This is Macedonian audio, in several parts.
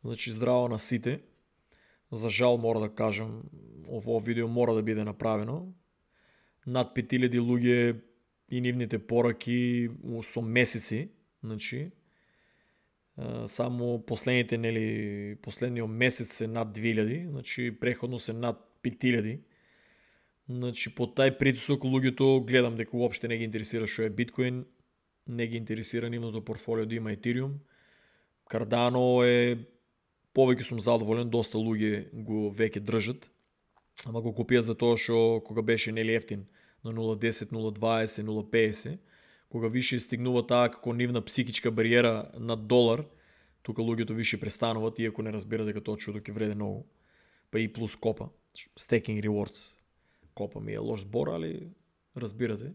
Значи здраво на сите. За жал мора да кажам, ово видео мора да биде направено. Над 5000 луѓе и нивните пораки со месеци, значи само последниот месец е над 2000, значи преходно се над 5000. Значи по тај притисок луѓето гледам дека уопште не ги интересира што е биткоин, не ги интересира нивното портфолио да има Ethereum. Cardano е повеќе сум задоволен, доста луѓе го веќе држат, ама го купија за тоа што кога беше нели ефтин на 0.10, 0.20, 0.50, кога више стигнува таа како нивна психичка бариера на $1, тука луѓето више престануваат, иако не разбира дека тоа чудо ќе вреде многу. Па и плюс копа, staking rewards. Копа ми е лош збор, али разбирате.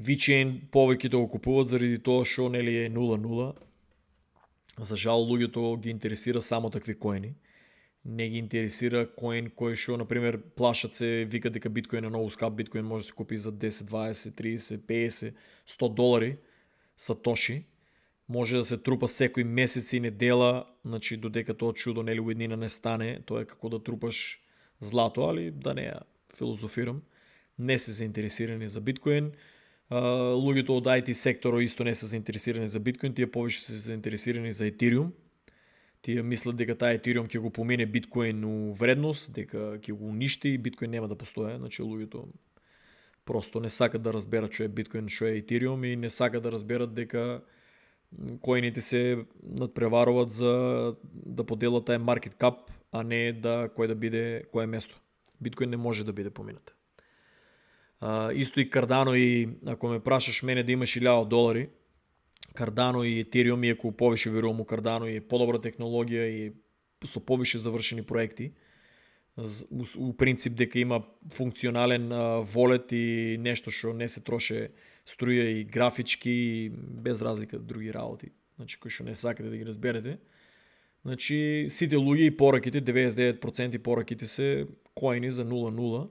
VeChain повеќето го купуваат заради тоа што нели е 0.0. За жал луѓето ги интересира само такви коини. Не ги интересира коин кој што, например, плашат се, викат дека биткоин е многу скап, биткоин може да се купи за 10, 20, 30, 50, $100 сатоши. Може да се трупа секој месец и недела, значи додека тоа чудо нели уеднина не стане, тоа е како да трупаш злато, али да не ја филозофирам. Не се заинтересирани за биткоин. Луѓето од IT секторот исто не се заинтересирани за биткоин, тие повеќе се заинтересирани за Ethereum. Тие мислат дека таа Ethereum ќе го помине биткоин у вредност, дека ќе го уништи и биткоин нема да постои. Значи луѓето просто не сакат да разберат што е биткоин, што е Ethereum и не сакат да разберат дека коините се надпреваруваат за да поделат тај market cap, а не да кој да биде кое место. Биткоин не може да биде поминат. Исто и Cardano и ако ме прашаш мене да имаш $1000, Cardano и Ethereum, иако повише верувам у Cardano и е подобра технологија и со повише завршени проекти, у принцип дека има функционален волет и нешто што не се троше струја и графички и без разлика други работи, значи кои што не сакате да ги разберете. Значи сите луѓе и пораките, 99% пораките се коини за 0.0.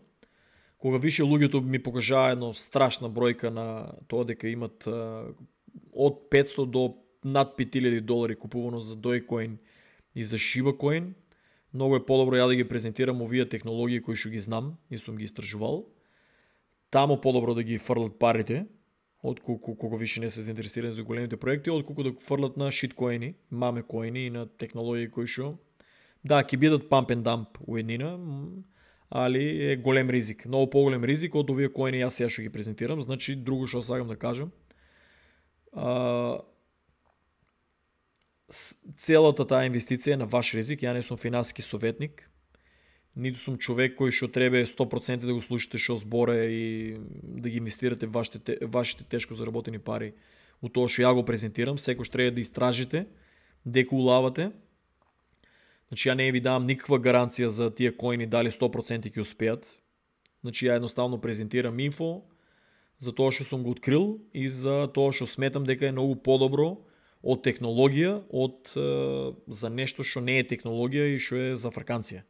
Кога више луѓето ми покажаа една страшна бројка на тоа дека имат од 500 до над $5000 купувано за Dogecoin и за Shiba Coin, многу е подобро ја да ги презентирам овие технологии кои што ги знам и сум ги истражувал. Тамо подобро да ги фрлат парите, отколку кога више не се заинтересирани за големите проекти, отколку да фрлат на шиткоини, маме коини и на технологии кои што да ќе бидат pump and dump уеднина, али е голем ризик, многу поголем ризик од овие коини јас сега што ги презентирам. Значи друго што сакам да кажам, целата таа инвестиција е на ваш ризик. Ја не сум финансиски советник, ниту сум човек кој што треба 100% да го слушате што зборе и да ги инвестирате вашите тешко заработени пари у тоа што ја го презентирам. Секој треба да истражите дека улавате. Значи ја не ви давам никаква гаранција за тие коини дали 100% ќе успеат. Значи ја едноставно презентирам инфо за тоа што сум го открил и за тоа што сметам дека е многу подобро од технологија, за нешто што не е технологија и што е за фрканција.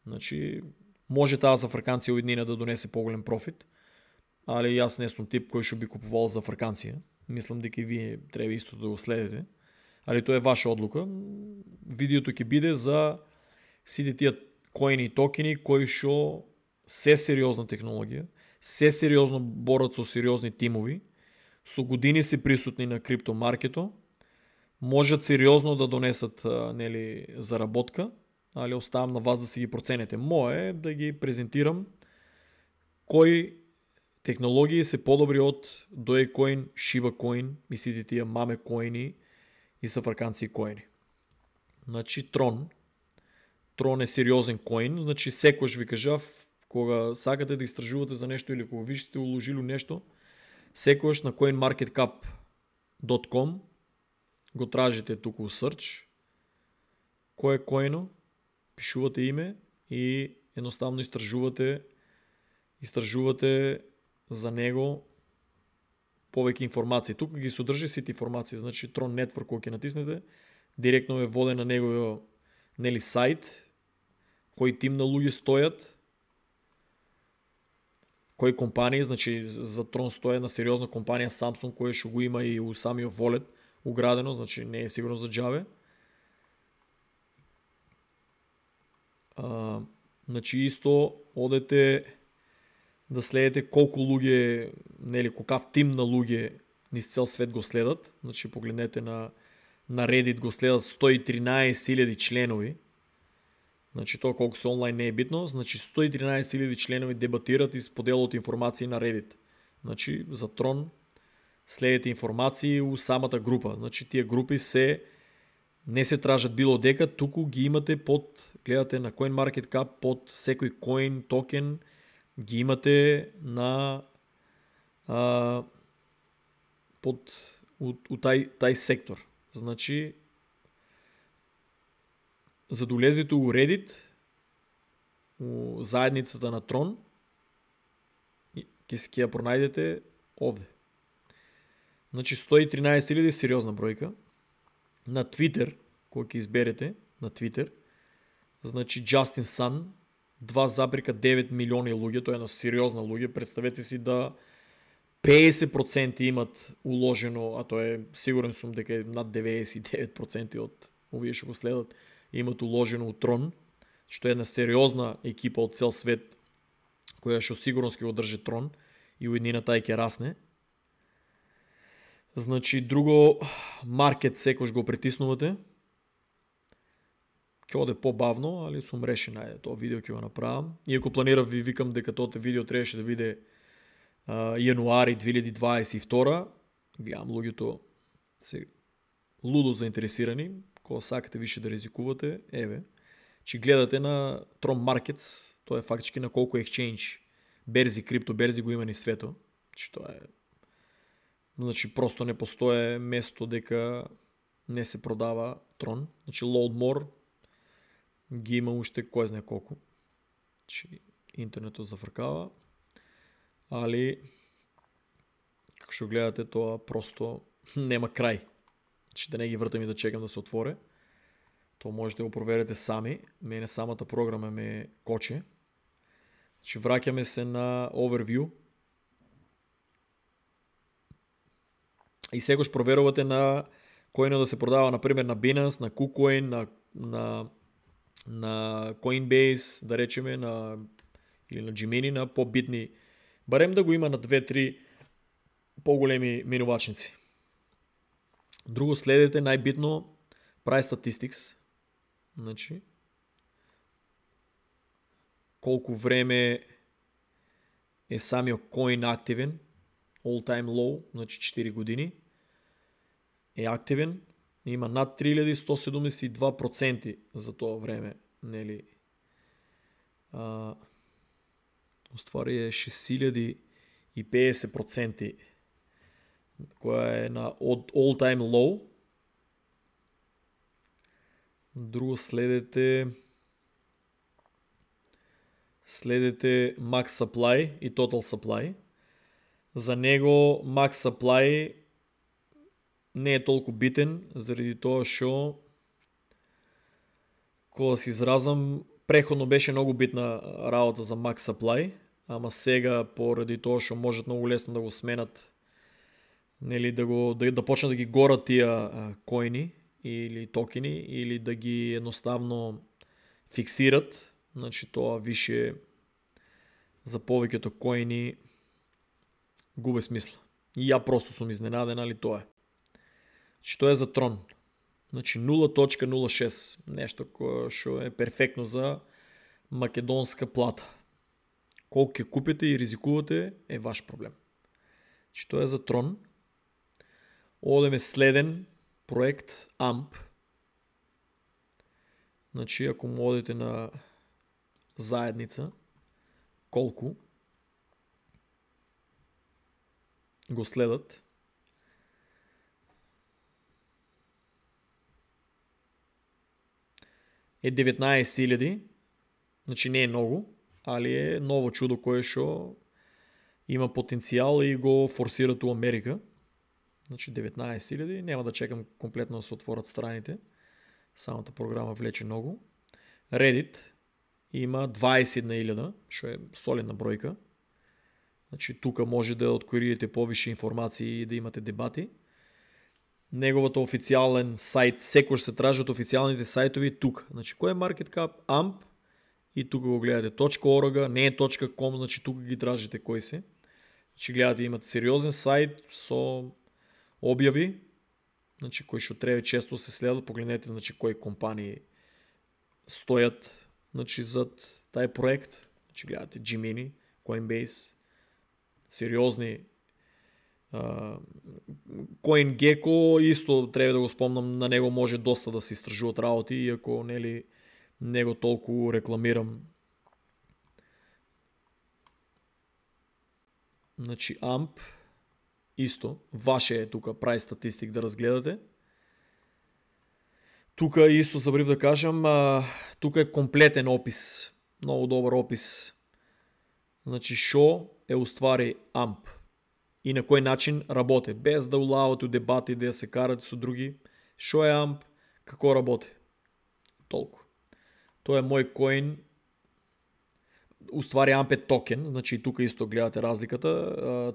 Значи може таа за фрканција уеднина да донесе поголем профит, али јас не сум тип кој што би купувал за фрканција. Мислам дека и вие треба исто да го следите. Али тоа е ваша одлука. Видеото ќе биде за сите тие коини и токени кои што се сериозна технологија, се сериозно борат со сериозни тимови, со години се присутни на криптомаркето, можат сериозно да донесат нели заработка, али оставам на вас да си ги проценете. Мое е да ги презентирам кои технологии се подобри од Dogecoin, Shiba Coin и сите тие маме коини и са фраканци коини. Значи Tron е сериозен коин, значи секојаш ви кажав, кога сакате да истражувате за нешто или кога виште уложили нешто, секојаш на coinmarketcap.com го тражите туку у search, кој е коино, пишувате име и едноставно истражувате за него повеќе информации. Тука ги содржи сите информации. Значи Tron Network кога ќе натиснете, директно ве воде на неговиот нели сайт, кој тим на луѓе стојат, кои компании, значи за Tron стои една сериозна компанија Samsung која што го има и у самиот волет уградено, значи не е сигурно за џабе. Значи исто одете да следите колку луѓе, нели какав тим на луѓе низ цел свет го следат. Значи погледнете на Reddit го следат 113.000 членови. Значи тоа колку се онлайн не е битно, значи 113.000 членови дебатират и споделуваат информации на Reddit. Значи за Трон следите информации у самата група. Значи тие групи не се тражат било дека, туку ги имате гледате на CoinMarketCap под секој коин, токен, ги имате на у тај сектор. Значи, за да улезете у Reddit, у заедницата на Трон, ќе ја пронајдете овде. Значи 113.000 сериозна бројка. На Twitter, кој ќе изберете, на Twitter, значи Justin Sun, 2,9 милиони луѓе, тоа е на сериозна луѓе. Представете си да 50% имат уложено, а тоа е, сигурен сум дека е над 99% од овие што го следат, имат уложено у Трон, што е една сериозна екипа од цел свет, која што сигурно ќе го држи Трон и уеднината ќе расне. Значи, друго, маркет секојаш го притиснувате. Ќе оде побавно, али сум решен, ајде, тоа видео ќе го направам. Иако планирав, ви викам дека тоа видео требаше да биде јануари 2022. Гледам, луѓето се лудо заинтересирани. Кога сакате више да ризикувате, еве, че гледате на Tron Markets, тоа е фактички на колку exchange, берзи, крипто берзи го има ни свето. Че тоа е, значи просто не постоje место дека не се продава Tron. Значи Loadmore ги има уште кој знае колку. Значи интернетот зафркава, али како што гледате тоа просто нема крај. Значи да не ги вртам и да чекам да се отворе. Тоа можете да го проверите сами. Мене самата програма ме коче. Значи враќаме се на overview. И сегош проверувате на кој да се продава, например, на Binance, на KuCoin, на Coinbase, да речеме, или на Gemini, на побитни. Барем да го има на 2-3 поголеми минувачници. Друго следете, најбитно, Price Statistics. Значи, колку време е самиот коин активен, all time low, значи 4 години, е активен, има над 3172% за тоа време, нели? Уствари е 6050%, која е на all time low. Друго следете Max Supply и Total Supply. За него Max Supply не е толку битен, заради тоа што, кога се изразам, преходно беше многу битна работа за Max Supply, ама сега поради тоа што можат многу лесно да го сменат, нели да почнат да ги горат тие коини или токени, или да ги едноставно фиксират, значи тоа више за повеќето коини губе смисла. И ја просто сум изненаден, али тоа е. Значи тоа е за Трон. Значи 0.06, нешто што е перфектно за македонска плата. Колку ќе купите и ризикувате е ваш проблем. Значи тоа е за Трон. Одеме следен проект AMP. Значи ако му одите на заедница, колку го следат, е 19.000, значи не е многу, али е ново чудо кое што има потенцијал и го форсират у Америка. Значи 19.000, нема да чекам комплетно да се отворат страните. Самата програма влече многу. Reddit има 21.000, што е солидна бројка. Значи тука може да откриете повише информации и да имате дебати. Неговото официјален сајт, секој се тражат официјалните сајтови тука. Значи кој е CoinMarketCap, AMP и тука го гледате .org, не е .com, значи тука ги тражите кои се. Значи гледате имате сериозен сайт со објави, значи кои што треба често се следат, погледнете значи кои компании стојат значи зад тај проект. Значи гледате Gemini, Coinbase, сериозни CoinGecko исто треба да го спомнам, на него може доста да се истражуваат работи, иако нели него толку рекламирам. Значи AMP исто, ваше е тука прави статистик да разгледате. Тука исто забрив да кажам, тука е комплетен опис, много добар опис. Значи шо е уствари AMP и на кој начин работи, без да улавате у дебати, да се карате со други. Шо е AMP, како работи. Толку. Тоа е мој коин. Уствари AMP е токен, значи тука исто гледате разликата.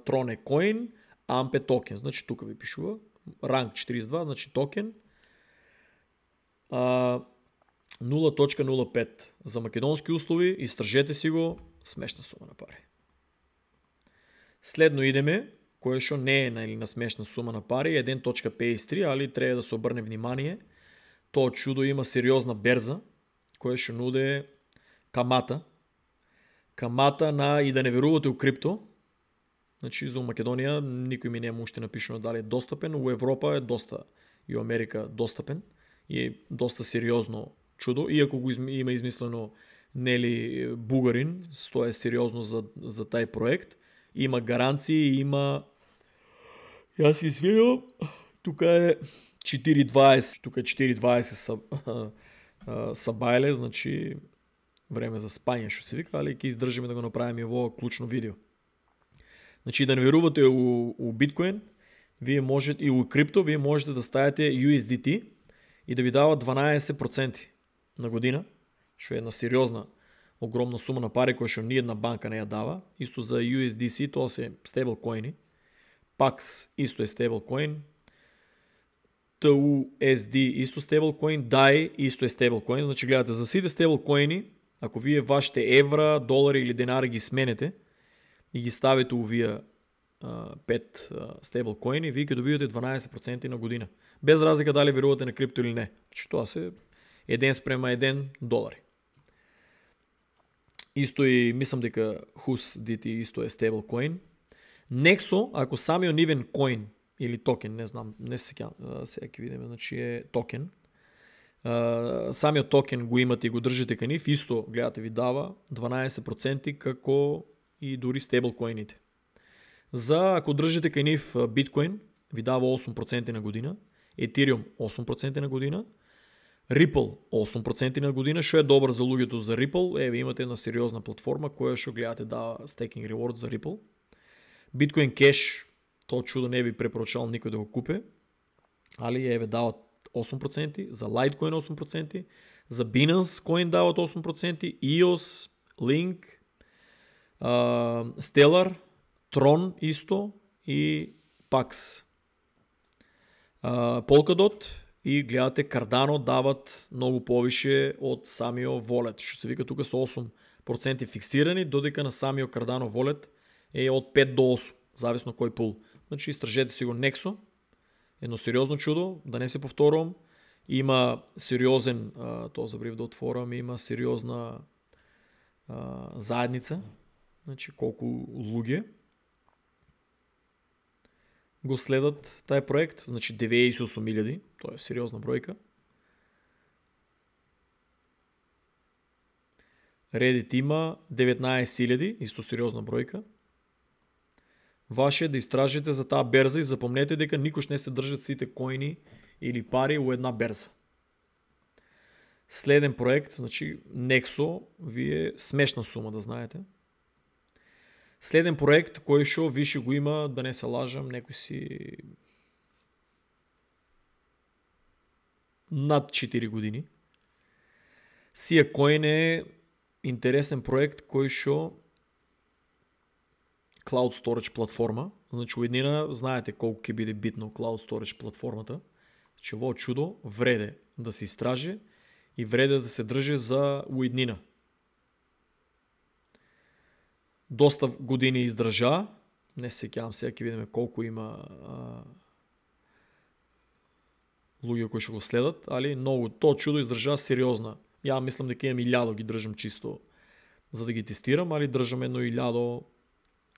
Tron е коин, AMP е токен, значи тука ви пишува. Ранг 42, значи токен. 0.05 за македонски услови, истражете си го, смешна сума на пари. Следно идеме, кое што не е на смешна сума на пари, 1.53, али треба да се обрне внимание. Тоа чудо има сериозна берза, кое што нуде камата. Камата на и да не верувате у крипто. Значи за Македонија никој ми не му уште напишано дали е достапен, у Европа е доста и у Америка достапен и е доста сериозно чудо, иако го има измислено нели бугарин, тоа е сериозно за тај проект. Има гаранции, има... Јас се извинувам, тука е 4.20, тука е 4.20 сабајле, значи време за спање што се вика, али ќе издржиме да го направиме во клучно видео. Значи да не верувате у биткоин, вие можете и у крипто, вие можете да ставите USDT и да ви дава 12% на година, што е една сериозна огромна сума на пари која што ни една банка не ја дава. Исто за USDC, тоа се стейблкоини. PAX исто е стейблкоин. TUSD исто стейблкоин. DAI исто е стейблкоин. Значи гледате за сите стейблкоини, ако вие вашите евра, долари или денари ги сменете и ги ставите овие 5 стейблкоини, вие ќе добивате 12% на година. Без разлика дали верувате на крипто или не. Значи тоа се 1:1 долари. Исто и мислам дека HUSDT исто е стейблкоин. Nexo, ако самиот нивен коин или токен, не знам, не се сеќавам, сега ќе видиме, значи е токен. Самиот токен го имате и го држите кај нив, исто гледате ви дава 12% како и дури стейблкоините. За ако држите кај нив биткоин, ви дава 8% на година, Ethereum 8% на година, Ripple 8% на година, што е добро за луѓето за Ripple. Еве имате една сериозна платформа која што гледате дава staking reward за Ripple. Bitcoin Cash, тоа чудо не би препорачал никој да го купе, али еве дават 8%, за Litecoin 8%, за Binance Coin дават 8%, EOS, Link, Stellar, Tron исто и PAX. Polkadot и гледате Cardano дават многу повише од самиот Wallet, што се вика тука со 8% фиксирани, додека на самиот Cardano Wallet е од 5 до 8, зависно кој пул. Значи истражете си го Nexo, едно сериозно чудо, да не се повторувам. Има сериозен, тоа забрив да отворам, има сериозна заедница, значи колку луѓе го следат тај проект, значи 98.000, тоа е сериозна бројка. Reddit има 19.000, исто сериозна бројка. Ваше е да истражите за таа берза и запомнете дека никош не се држат сите коини или пари у една берза. Следен проект, значи Nexo, вие смешна сума да знаете. Следен проект кој што више го има, да не се лажам, некој си над 4 години. SiaCoin е интересен проект кој што Cloud Storage платформа. Значи уеднина знаете колку ќе биде битно Cloud Storage платформата. Значи во чудо вреде да се истражи и вреде да се држи за уеднина. доста години издржа. Не се сеќавам сега, ќе видиме колку има луѓе кои што го следат, али многу тоа чудо издржа сериозна. Ја мислам дека имам 1000 ги држам чисто за да ги тестирам, али држам едно 1000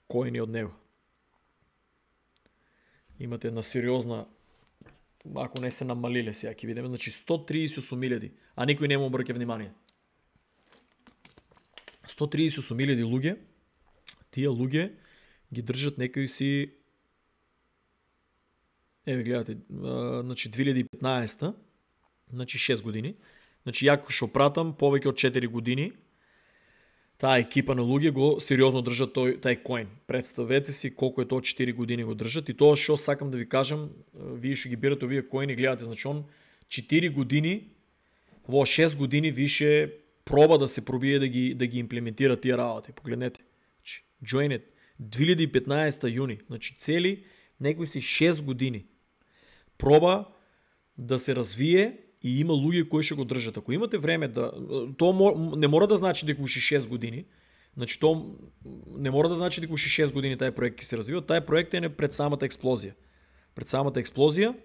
коини од него. Имате една сериозна, ако не се намалиле сега, ќе видиме, значи 138.000, а никој не му обрќа внимание. 138.000 луѓе, тие луѓе ги држат некои си, еве гледате, значи 2015, значи 6 години, значи ја што пратам повеќе од 4 години, таа екипа на луѓе го сериозно држат тај коин. Представете си колку е тоа 4 години го држат и тоа што сакам да ви кажам, вие што ги бирате овие коини, гледате, значи он 4 години, во 6 години више проба да се пробие да ги имплементира тие работи. Погледнете. Join it. 2015 јуни, значи цели некои си 6 години. Проба да се развие и има луѓе кои што го држат. Ако имате време тоа не мора да значи дека уши 6 години. Значи тоа не мора да значи дека уши 6 години тај проект ќе се развива. Тај проект е пред самата експлозија. Пред самата експлозија.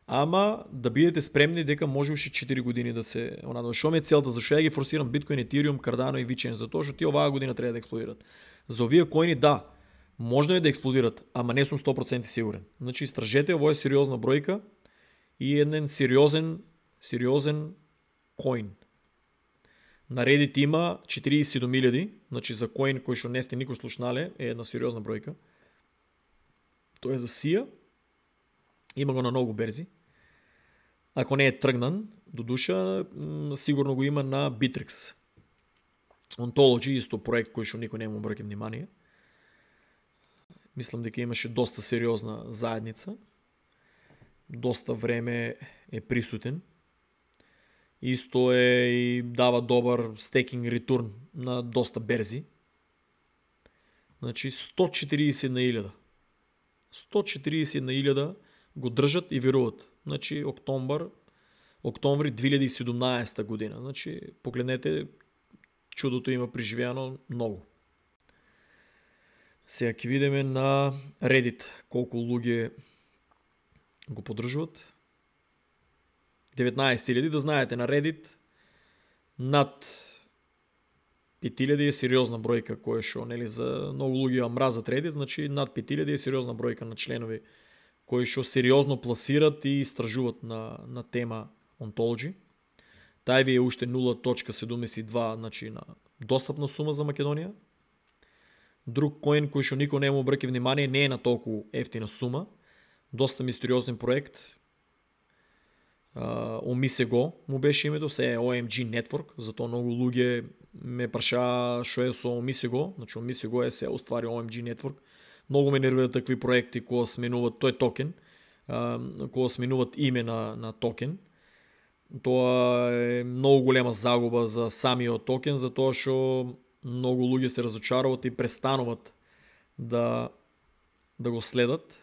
Ама да бидете спремни дека може уши 4 години да се Што ми е целта, зашто ја ги форсирам Bitcoin, Ethereum, Cardano и VeChain, затоа што тие оваа година треба да експлодират. За овие коини да, можно е да експлодират, ама не сум 100% сигурен. Значи истражете, ово е сериозна бројка и еден сериозен коин. На Reddit има 47.000, значи за коин кој што не сте никој слушнале, е една сериозна бројка. Тоа е за SIA. Има го на многу берзи. Ако не е тргнан, до душа, сигурно го има на Bittrex. Ontology, исто проект кој што никој не му обрќа внимание. Мислам дека имаше доста сериозна заедница. Доста време е присутен. Исто е и дава добар стейкинг ретурн на доста берзи. Значи 140 на 1000. 140 на 1000 го држат и веруват. Значи октомври 2017 година. Значи погледнете, чудото има преживеано многу. Сега ќе видиме на Reddit колку луѓе го поддржуват. 19.000, да знаете, на Reddit над 5.000 е сериозна бројка која што, нели, за многу луѓе ја мразат Reddit, значи над 5.000 е сериозна бројка на членови кои што сериозно пласират и истражуваат на тема Ontology. Тај ви е уште 0.72, значи на достапна сума за Македонија. Друг коин кој што никој не му обрќа внимание, не е на толку ефтина сума. Доста мистериозен проект. Omisego му беше името, се е OMG Network, затоа многу луѓе ме прашаа што е со Omisego. Значи Omisego е се уствари OMG Network. Многу ме нервираат такви проекти кога сменуваат, тој токен, кога сменуваат име на токен. Тоа е многу голема загуба за самиот токен, затоа што многу луѓе се разочаруват и престануваат да го следат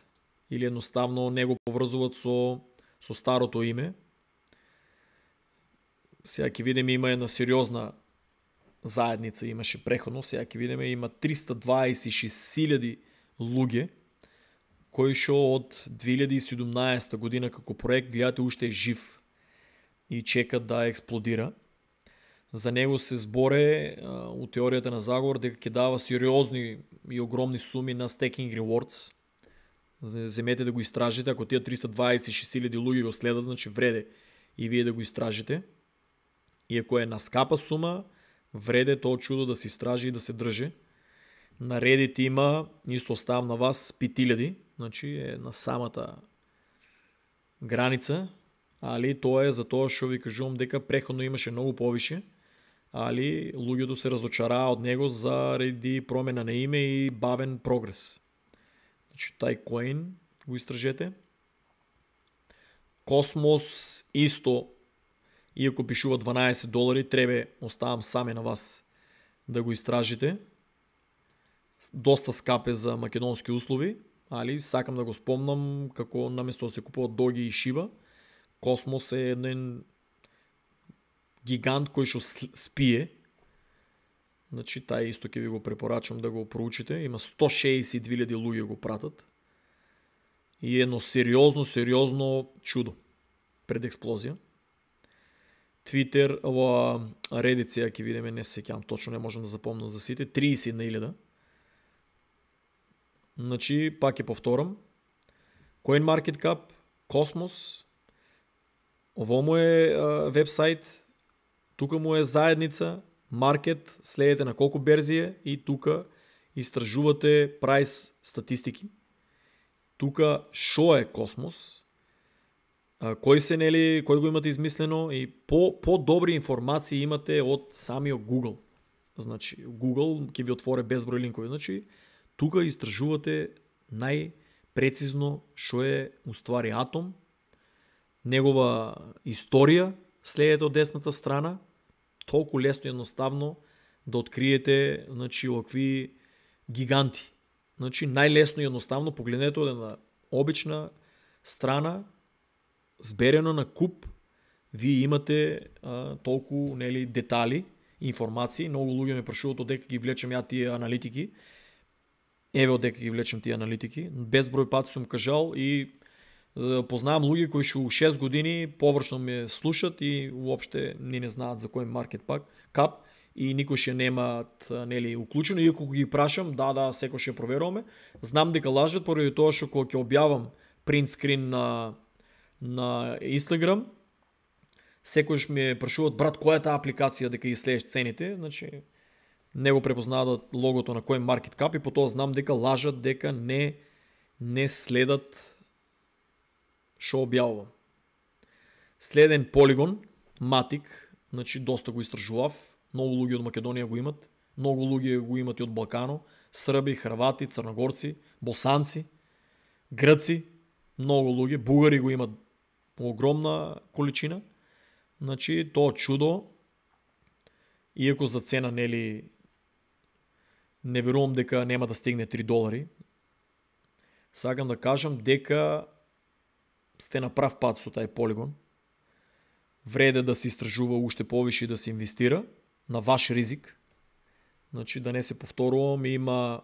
или едноставно не го поврзуваат со старото име. Сега ќе видиме, има една сериозна заедница, имаше преходно, сега ќе видиме, има 326.000 луѓе кои што од 2017 година како проект, гледате, уште е жив и чека да експлодира. За него се зборе у теоријата на заговор дека ќе дава сериозни и огромни суми на staking rewards. Земете да го истражите, ако тие 326.000 луѓе го следат, значи вреде и вие да го истражите. Иако е на скапа сума, вреде тоа чудо да се истражи и да се држи. На Reddit има, исто оставам на вас, 5.000, значи е на самата граница, али тоа е за тоа што ви кажувам дека преходно имаше многу повише, али луѓето се разочараа од него заради промена на име и бавен прогрес. Значи тај коин го истражете. Космос исто, иако пишува $12, треба, оставам саме на вас да го истражите. Доста скапе за македонски услови, али сакам да го спомнам како наместо да се купуват Доги и Шиба, Космос е еден гигант кој што спие. Значи, тај исто ќе ви го препорачам да го проучите. Има 162.000 луѓе го пратат. И едно сериозно чудо пред експлозија. Twitter, ова Reddit сега ќе видиме, не се сеќавам точно, не можам да запомнам за сите, 31.000. Значи, пак ќе повторам. CoinMarketCap, Cosmos, ово му е вебсайт, тука му е заедница, маркет, следете на колку берзи е и тука истражувате прайс статистики. Тука шо е Космос, кој се нели, кој го имате измислено и по-добри информации имате од самиот Google. Значи, Google ќе ви отворе безброј линкови. Значи, тука истражувате најпрецизно шо е уствари атом, негова историја, следете од десната страна, толку лесно и едноставно да откриете, значи, овакви гиганти. Значи, најлесно и едноставно погледнете од една обична страна, зберено на куп, вие имате толку нели детали, информации. Многу луѓе ме прашуваат одека ги влечем ја тие аналитики. Еве одека ги влечем тие аналитики. Безброј пати сум кажал и познавам луѓе кои шу 6 години површно ме слушат и уопште не знаат за кој маркет кап и никој ше немаат нели уклучено, иако ги прашам, да, секој ше проверуваме. Знам дека лажат поради тоа што кога ќе објавам принт скрин на Instagram, секојш ми прашуваат, брат, која е таа апликација дека ги следиш цените, значи не го препознаваат логото на CoinMarketCap и по тоа знам дека лажат, дека не следат шо објавувам. Следен Polygon, Matic, значи доста го истражував, многу луѓе од Македонија го имат, многу луѓе го имат и од Балкано, Срби, Хрвати, Црногорци, Босанци, Грци, многу луѓе, бугари го имат огромна количина. Значи, тоа чудо, иако за цена нели не верувам дека нема да стигне $3, сакам да кажам дека сте на прав пат со тај Polygon. Вреде да се истражува уште повише и да се инвестира на ваш ризик. Значи, да не се повторувам, има...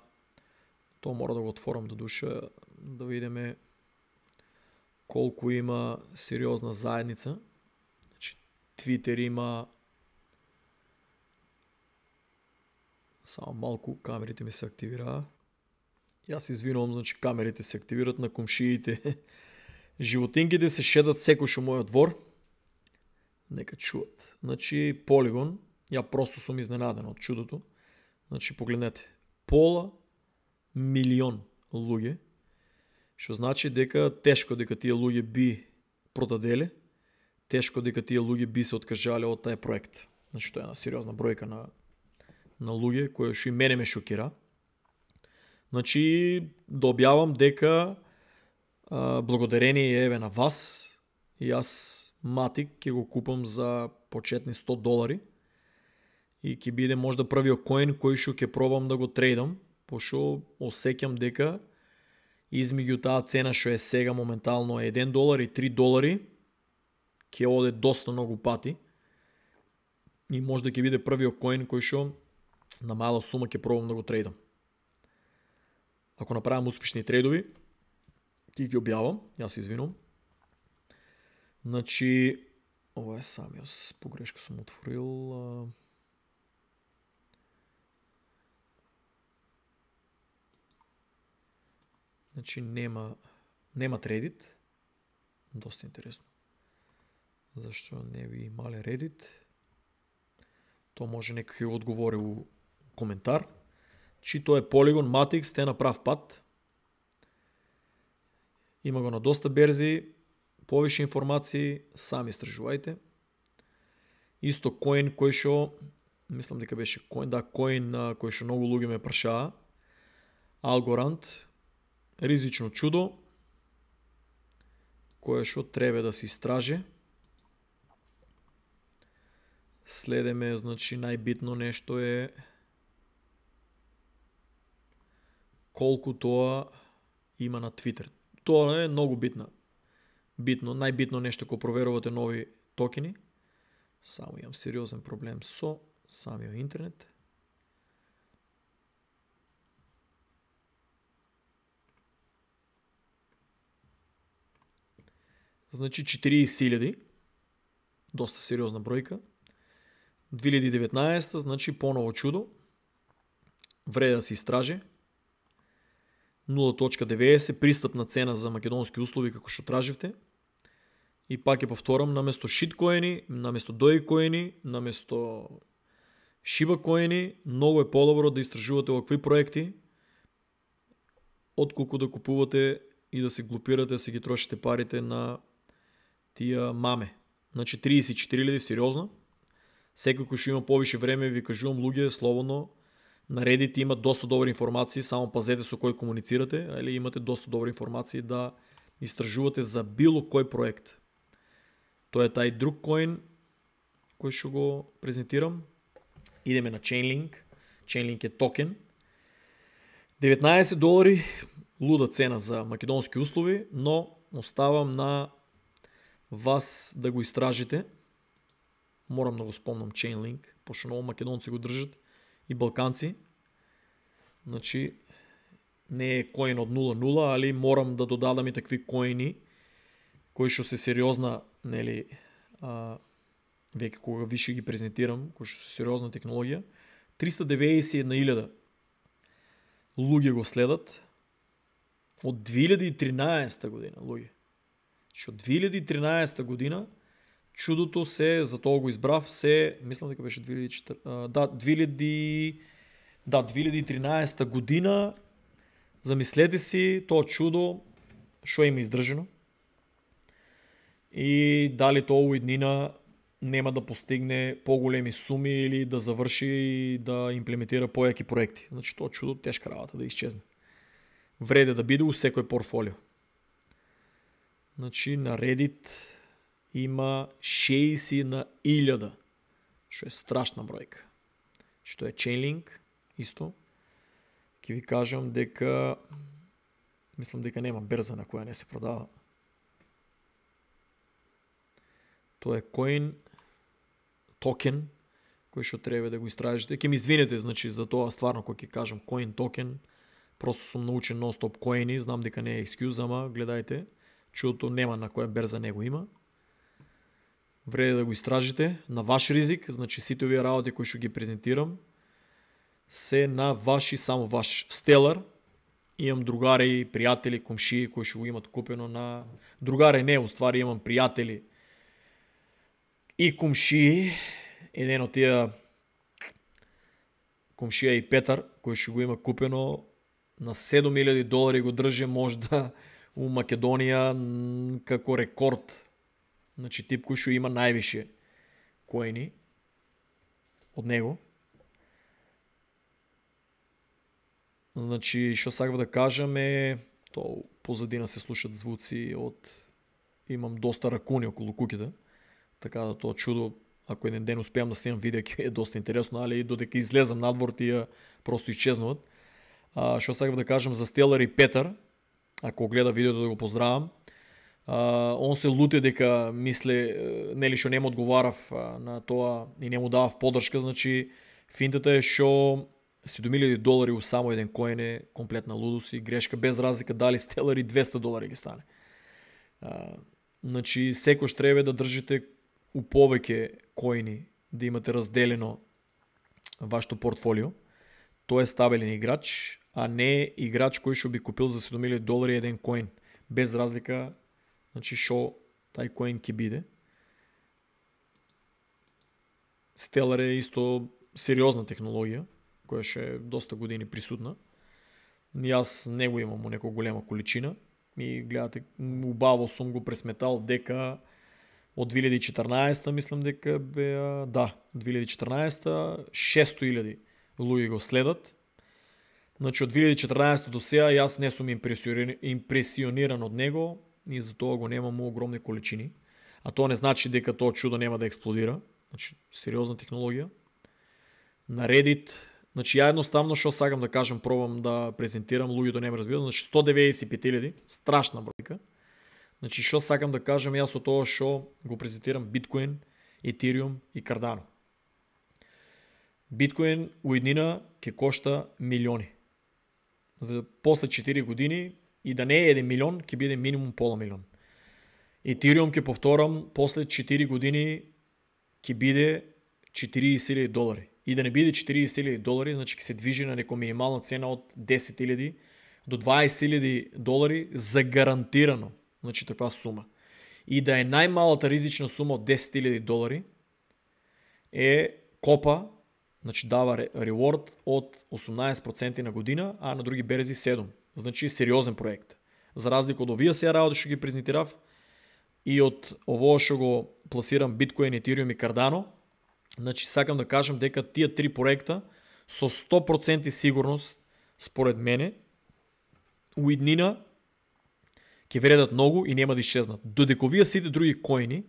Тоа мора да го отворам да душа, да видиме колку има сериозна заедница. Значи, Twitter има... Само малку, камерите ми се активираа. Јас извинувам, значи камерите се активират на комшиите. Животинките се шедат секој у мојот двор. Нека чуат. Значи, Polygon, ја просто сум изненаден од чудото. Значи, погледнете. $500 000 луѓе, што значи дека тешко дека тие луѓе би продаделе, тешко дека тие луѓе би се откажале од тај проект. Значи, тоа е една сериозна бројка на луѓе, која што и мене ме шокира. Значи, да објавам дека благодарение еве на вас, јас Matic ќе го купам за почетни $100 и ќе биде можда првиот коин кој што ќе пробам да го трейдам, пошто осеќам дека измеѓу таа цена што е сега моментално $1 и $3 ќе оде доста многу пати и можда ќе биде првиот коин кој што на мала сума ќе пробам да го трейдам. Ако направам успешни трейдови, ќе ги објавам, јас извинувам. Значи, ова е самиот, погрешка сум отворил. Значи, нема Reddit. Доста интересно. Зашто не би имале Reddit? Тоа може некој ќе одговори у коментар. Чи тоа е Polygon, Matic, сте на прав пат. Има го на доста берзи, повише информации, сами истражувајте. Исто коин кој што, мислам дека беше коин, коин кој што многу луѓе ме прашаа, Algorand, ризично чудо, кое што треба да се истраже. Следеме, значи, најбитно нешто е колку тоа има на Twitter. Тоа е многу битно, најбитно нешто кога проверувате нови токени. Само имам сериозен проблем со самиот интернет. значи 40.000, доста сериозна бројка. 2019, значи поново чудо, вреде да се истражи. 0.90 пристапна цена за македонски услови како што траживте. И пак ќе повторам, наместо шиткоини, наместо дојкоини, наместо шибакоини, многу е подобро да истражувате овакви проекти, отколку да купувате и да се глупирате, да се ги трошите парите на тие маме. Значи 34.000 сериозно. Секој кој што има повише време, ви кажувам луѓе, слободно, наредите, имат доста добри информации, само пазете со кој комуницирате, или имате доста добри информации да истражувате за било кој проект. Тоа е тај друг коин кој што го презентирам. Идеме на Chainlink. Chainlink е токен. $19, луда цена за македонски услови, но оставам на вас да го истражите. Морам да го спомнам Chainlink, пошто многу македонци го држат и балканци. Значи, не е коин од 0.0, али морам да додадам и такви коини кои што се сериозна, нели, веќе кога више ги презентирам, кои што се сериозна технологија. 391.000 луѓе го следат од 2013 година, луѓе. Што 2013 година чудото се, за тоа го избрав, се, мислам дека беше 2013 година. Замислете си тоа чудо што има издржано и дали тоа уеднина нема да постигне поголеми суми или да заврши и да имплементира појаки проекти. Значи тоа чудо тешка работа да исчезне. Вреде да биде у секој портфолио. Значи на Reddit има 60.000, што е страшна бројка. Што е Chainlink, исто. Ќе ви кажам дека мислам дека нема берза на која не се продава. Тоа е коин, токен, кој што треба да го истражите. Ќе ми извинете, значи, за тоа стварно кога ќе кажам коин, токен, просто сум научен нон-стоп коини, знам дека не е екскюз, ама гледајте, чудото нема на која берза не го има. Вреде да го истражите на ваш ризик, значи сите овие работи кои што ги презентирам се на ваш и само ваш. Stellar, имам другари, пријатели, комшии кои што го имат купено на... Другари не, уствари имам пријатели и комшии. Еден од тие комшија и Петар, кој што го има купено на $7.000 го држи можда у Македонија како рекорд. Значи тип кој што има највише коини од него. Значи, што сакав да кажам е, тоа позадина се слушат звуци од... Имам доста ракуни околу куќата, така да тоа чудо, ако еден ден успеам да снимам видео, ќе е доста интересно, али додека излезам надвор, тие просто исчезнуват. Што сакав да кажам за Stellar и Петар, ако гледа видеото да го поздравам, он се луте дека мисле, нели што не му одговарав на тоа и не му давав поддршка, значи финтата е што $7.000 у само еден коин е комплетна лудост и грешка, без разлика дали Stellar и $200 ги стане. Значи секој треба да држите у повеќе коини, да имате разделено вашето портфолио. Тоа е стабилен играч, а не играч кој што би купил за $7.000 еден коин, без разлика, значи што тај коин ќе биде. Stellar е исто сериозна технологија, која што е доста години присутна. Јас не го имам у некоја голема количина и гледате, убаво сум го пресметал дека од 2014 мислам дека беа, 2014 600.000 луѓе го следат. Значи од 2014 до сега јас не сум импресиониран од него и затоа го немам у огромни количини. А тоа не значи дека тоа чудо нема да експлодира. Значи сериозна технологија. На Reddit, значи ја едноставно што сакам да кажам, пробам да презентирам, луѓето не ме разбират, значи 195.000, страшна бројка. Значи што сакам да кажам јас со тоа што го презентирам Bitcoin, Ethereum и Cardano. Bitcoin уеднина ќе кошта милиони. За после 4 години и да не е 1 милион, ќе биде минимум пола милион. Ethereum, ќе повторам, после 4 години ќе биде $40,000. И да не биде $40,000, значи ќе се движи на нека минимална цена од $10,000 до $20,000 за гарантирано. Значи таква сума. И да е најмалата ризична сума од $10,000 е копа, значи дава реворд од 18% на година, а на други берези 7%. Значи сериозен проект. За разлика од овие сега работи што ги презентирав и од ово што го пласирам Bitcoin, Ethereum и Cardano, значи сакам да кажам дека тие три проекта со 100% сигурност, според мене, у иднина ќе вредат многу и нема да исчезнат. Додека овие сите други коини,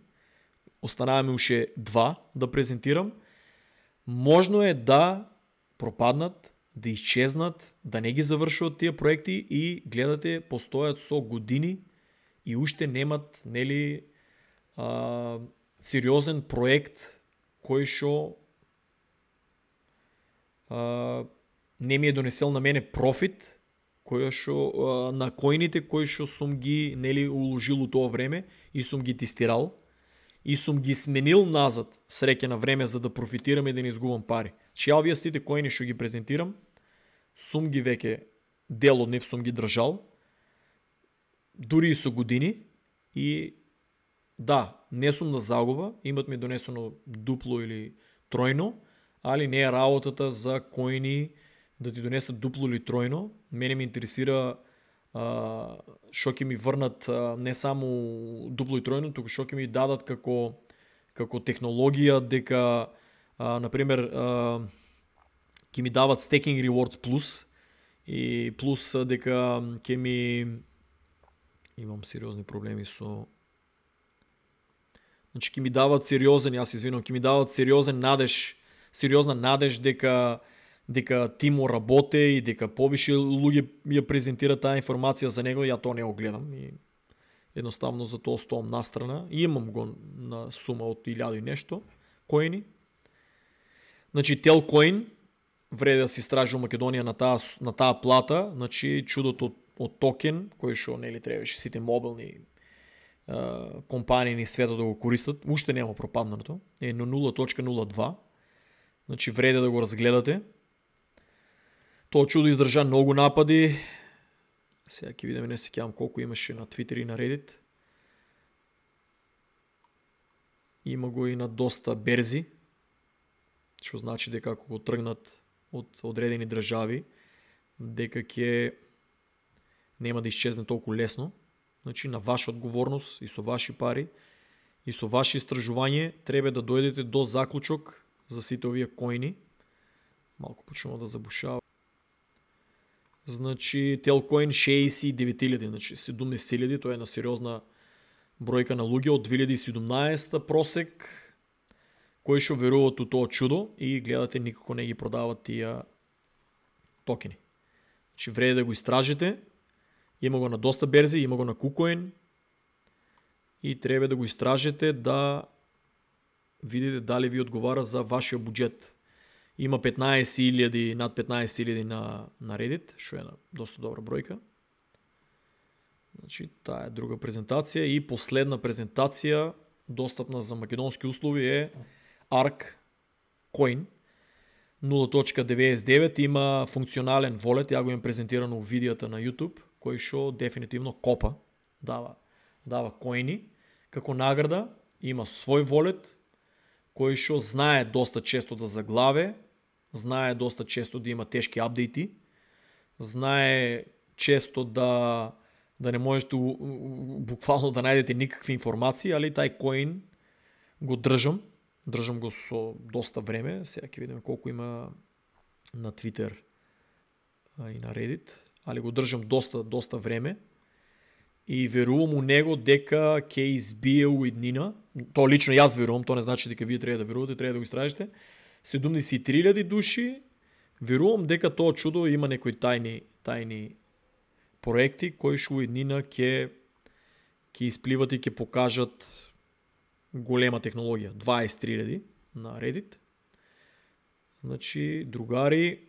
останаваме уште 2 да презентирам, можно е да пропаднат, да исчезнат, да не ги завршуват тие проекти и гледате постојат со години и уште немат, нели, сериозен проект кој што не ми е донесел на мене профит, кој што на коините кои што сум ги, нели, уложил у тоа време и сум ги тестирал и сум ги сменил назад среќа на време за да профитирам и да не изгубам пари. Че овие сите коини што ги презентирам, сум ги веќе, дел од нив сум ги држал, дури и со години, и да, не сум на загуба, имат ми донесено дупло или тројно, али не е работата за коини да ти донесат дупло или тројно. Мене ме интересира што ќе ми врнат не само дупло и тројно, туку што ќе ми дадат како технологија, дека например ќе ми дават Staking Rewards Plus и плюс дека ќе ми имам сериозни проблеми со, значи ќе ми дават сериозен, јас извинувам, ќе ми дават сериозна надеж дека тимо работе и дека повише луѓе ја презентираат таа информација за него. Ја тоа не го гледам и едноставно за тоа стоам настрана и имам го на сума од 1000 и нешто коини. Значи Telcoin вреди да се истражи во Македонија на таа плата, значи чудото од токен кој што, нели, требаше сите мобилни компании ни светот да го користат, уште нема пропаднато, е на 0.02, значи вреди да го разгледате. Тоа чудо издржа многу напади. Сега ќе видиме, не се сеќавам колку имаше на Twitter и на Reddit. Има го и на доста берзи, што значи дека ако го тргнат од одредени држави, дека ќе нема да исчезне толку лесно. Значи на ваша одговорност и со ваши пари и со ваше истражување треба да дојдете до заклучок за сите овие коини. Малку почнува да забушава. Значи Telcoin 69,000, значи 70,000, тоа е на сериозна бројка на луѓе од 2017 просек кои што веруваат у тоа чудо и гледате никако не ги продават тие токени. Значи вреди да го истражите. Има го на доста берзи, има го на KuCoin и треба да го истражите да видите дали ви одговара за вашиот буџет. Има 15,000, над 15,000 на Reddit, што е на доста добра бројка. Значи, таа е друга презентација и последна презентација, достапна за македонски услови, е ARK Coin 0.99, има функционален волет, ја го имам презентирано у видеото на YouTube, кој што дефинитивно копа, дава коини, како награда, има свој волет, кој што знае доста често да заглаве, знае доста често да има тешки апдејти, знае често да не можете буквално да најдете никакви информации, али тај коин го држам го со доста време, сега ќе видиме колку има на Twitter и на Reddit, али го држам доста време и верувам у него дека ќе избие у иднина. Тоа лично јас верувам, тоа не значи дека вие треба да верувате, треба да го истражите. 73,000 души, верувам дека тоа чудо има некои тајни проекти кои што у иднина ќе испливат и ќе покажат голема технологија. 23,000 на Reddit. Значи, другари,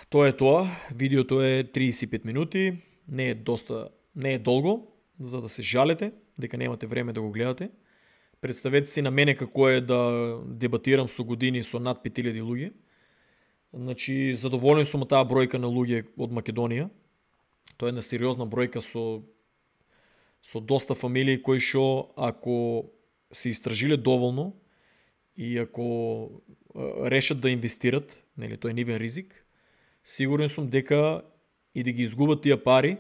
тоа е тоа. Видеото е 35 минути. Не е доста не е долго, за да се жалете, дека немате време да го гледате. Представете си на мене како е да дебатирам со години со над 5000 луѓе. Значи, задоволен сум од таа бројка на луѓе од Македонија. Тоа е една сериозна бројка со доста фамилии кои што ако се истражиле доволно и ако решат да инвестират, нели, тој е нивен ризик, сигурен сум дека и да ги изгубат тие пари,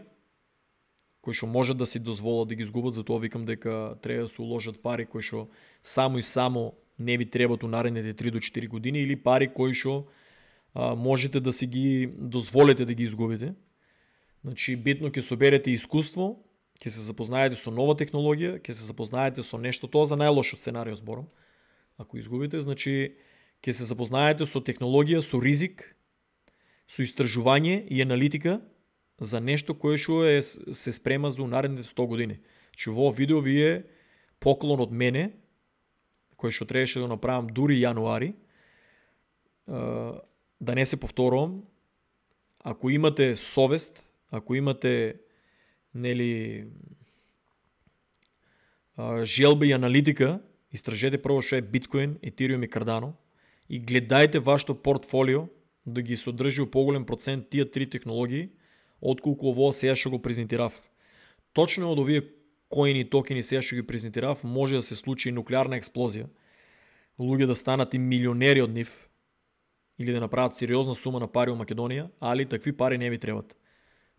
кои што можат да си дозволат да ги изгубат, затоа викам дека треба да се уложат пари кои што само и само не ви требат у наредните 3 до 4 години или пари кои што можете да си ги дозволите да ги изгубите. Значи, битно ќе соберете искуство, ќе се запознаете со нова технологија, ќе се запознаете со нешто, тоа за најлошо сценарио зборам. Ако изгубите, значи ќе се запознаете со технологија, со ризик, со истражување и аналитика за нешто кое што се спрема за наредните 100 години. Че во видео ви е поклон од мене, кој што требаше да направам дури јануари, да не се повторувам. Ако имате совест, ако имате желба и аналитика, истражете прво што е биткоин, етериум и кардано и гледајте вашето портфолио да ги содржи у поголем процент тие три технологии, отколку ово сега што го презентирав. Точно од овие коини и токени сега што ги презентирав, може да се случи нуклеарна експлозија, луѓе да станат и милионери од нив, или да направат сериозна сума на пари у Македонија, али такви пари не ви требат.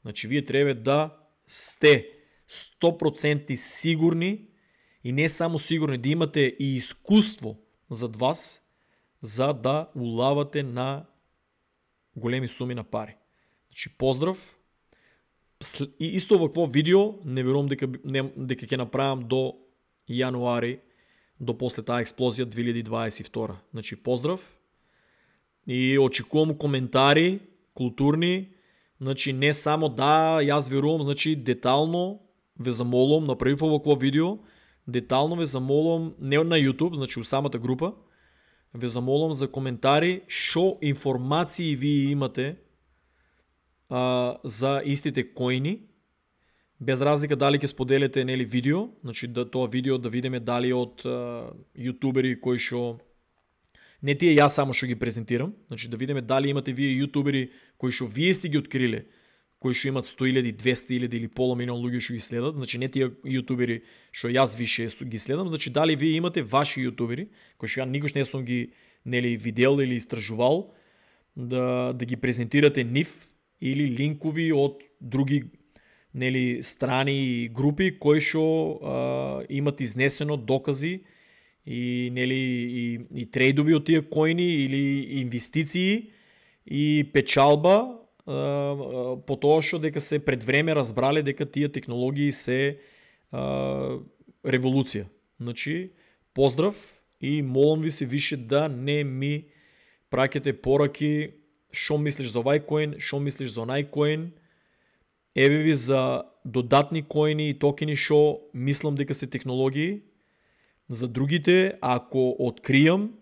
Значи, вие треба да сте 100% сигурни и не само сигурни, да имате и искуство зад вас, за да улавате на големи суми на пари. Значи, поздрав. И исто вакво видео, не верувам дека ќе направам до јануари, до после таа експлозија 2022. Значи, поздрав. И очекувам коментари, културни, значи не само да, јас верувам, значи детално ве замолувам, направив овакво видео, детално ве замолувам, не на YouTube, значи у самата група, ве замолувам за коментари, шо информации ви имате за истите коини, без разлика дали ќе споделите нели видео, значи да тоа видео да видиме дали од јутубери кои што не тие јас само што ги презентирам, значи да видиме дали имате вие јутубери кои што вие сте ги откриле, кои што имат 100.000, 200.000 или пола милион луѓе што ги следат, значи не тие јутубери што јас више ги следам, значи дали вие имате ваши јутубери кои што ја никош не сум ги нели видел или истражувал, да ги презентирате нив или линкови од други нели страни и групи кои што имат изнесено докази и нели и трейдови од тие коини или инвестиции и печалба по тоа што дека се пред време разбрале дека тие технологии се револуција. Значи, поздрав и молам ви се више да не ми праќате пораки шо мислиш за овај коин, шо мислиш за онај коин, еве ви за додатни коини и токени шо мислам дека се технологии. За другите, ако откријам,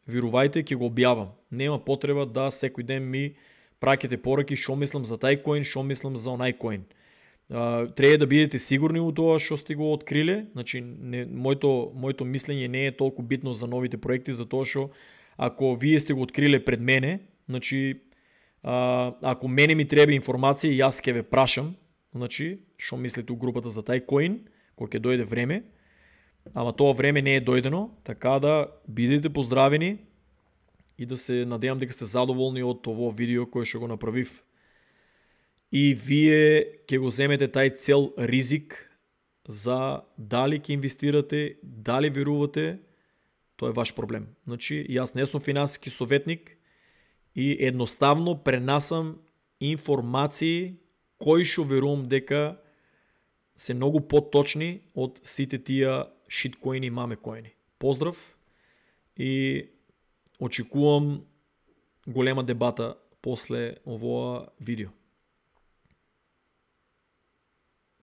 верувајте, ќе го објавам. Нема потреба да секој ден ми праќате пораки шо мислам за тај коин, шо мислам за онај коин. Треба да бидете сигурни у тоа што сте го откриле. Значи, моето мислење не е толку битно за новите проекти, затоа што ако вие сте го откриле пред мене, значи ако мене ми треба информација, јас ќе ве прашам, значи, што мислите у групата за тај коин, кога ќе дојде време. Ама тоа време не е дојдено, така да бидете поздравени и да се надевам дека сте задоволни од ово видео кое што го направив. И вие ќе го земете тај цел ризик за дали ќе инвестирате, дали верувате, тоа е ваш проблем. Значи, јас не сум финансиски советник и едноставно пренасам информации кои што верувам дека се многу поточни од сите тие шиткоини и мамекоини. Поздрав и очекувам голема дебата после овоа видео.